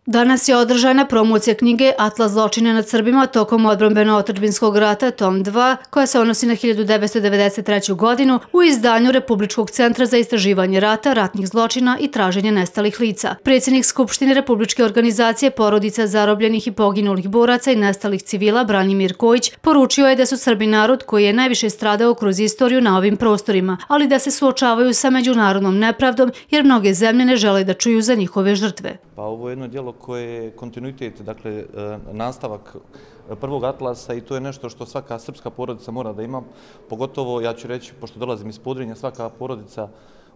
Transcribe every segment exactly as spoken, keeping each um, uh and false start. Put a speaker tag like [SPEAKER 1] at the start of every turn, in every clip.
[SPEAKER 1] Danas je održana promocija knjige Atlas zločina nad Srbima tokom odbrambeno-otadžbinskog rata, tom dva, koja se odnosi na hiljadu devetsto devedeset treću. godinu u izdanju Republičkog centra za istraživanje rata, ratnih zločina i traženje nestalih lica. Predsjednik Skupštine Republičke organizacije porodica zarobljenih i poginulih boraca i nestalih civila Branimir Kojić poručio je da su Srbi narod koji je najviše stradao kroz istoriju na ovim prostorima, ali da se suočavaju sa međunarodnom nepravdom jer mnoge zemlje ne žele da čuju za njihove žrtve.
[SPEAKER 2] Pa ovo je jedno djelo koje je kontinuitet, dakle nastavak prvog Atlasa i to je nešto što svaka srpska porodica mora da ima, pogotovo ja ću reći, pošto dolazim iz Podrinja, svaka porodica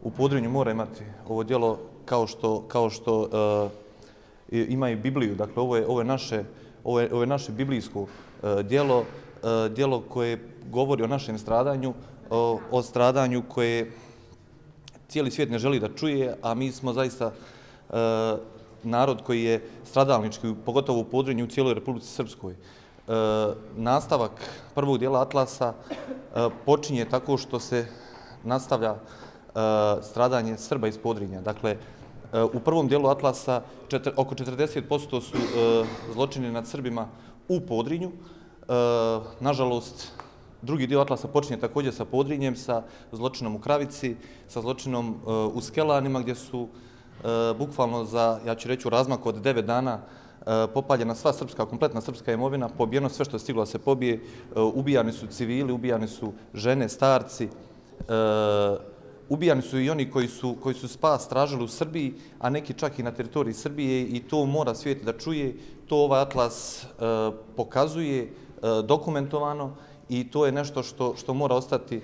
[SPEAKER 2] u Podrinju mora imati ovo djelo kao što, kao što uh, ima i Bibliju, dakle ovo je, ovo je, naše, ovo je, ovo je naše biblijsko uh, djelo, uh, djelo koje govori o našem stradanju, o, o stradanju koje cijeli svijet ne želi da čuje, a mi smo zaista uh, narod koji je stradalnički, pogotovo u Podrinju, u cijeloj Republici Srpskoj. E, nastavak prvog dijela Atlasa e, počinje tako što se nastavlja e, stradanje Srba iz Podrinja. Dakle, e, u prvom dijelu Atlasa četir, oko četrdeset posto su e, zločini nad Srbima u Podrinju. E, nažalost, drugi dio Atlasa počinje također sa Podrinjem, sa zločinom u Kravici, sa zločinom e, u Skelanima, gdje su E, bukvalno za, ja ću reći, u razmaku od devet dana e, popaljena sva srpska, kompletna srpska imovina, pobijeno sve što je stiglo da se pobije, e, ubijani su civili, ubijani su žene, starci, e, ubijani su i oni koji su, koji su spas tražili u Srbiji, a neki čak i na teritoriji Srbije i to mora svijet da čuje, to ovaj Atlas e, pokazuje, e, dokumentovano i to je nešto što, što mora ostati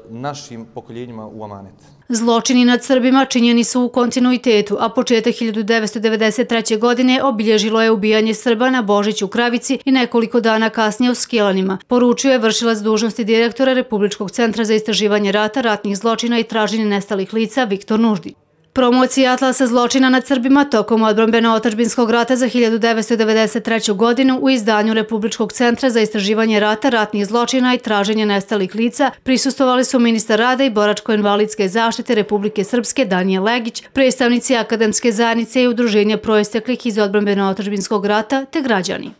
[SPEAKER 2] našim pokoljenjima u amanet.
[SPEAKER 1] Zločini nad Srbima činjeni su u kontinuitetu, a početak hiljadu devetsto devedeset treće. godine obilježilo je ubijanje Srba na Božić u Kravici i nekoliko dana kasnije u Skelanima, poručio je vršilac dužnosti direktora Republičkog centra za istraživanje rata, ratnih zločina i traženje nestalih lica Viktor Nuždi. Promocija Atlasa zločina nad Srbima tokom odbrambeno-otadžbinskog rata za hiljadu devetsto devedeset treću. godinu u izdanju Republičkog centra za istraživanje rata, ratnih zločina i traženje nestalih lica prisustvovali su ministar rada i boračko-invalidske zaštite Republike Srpske Danijel Legić, predstavnici akademske zajednice i udruženja proisteklih iz odbrambeno-otadžbinskog rata te građani.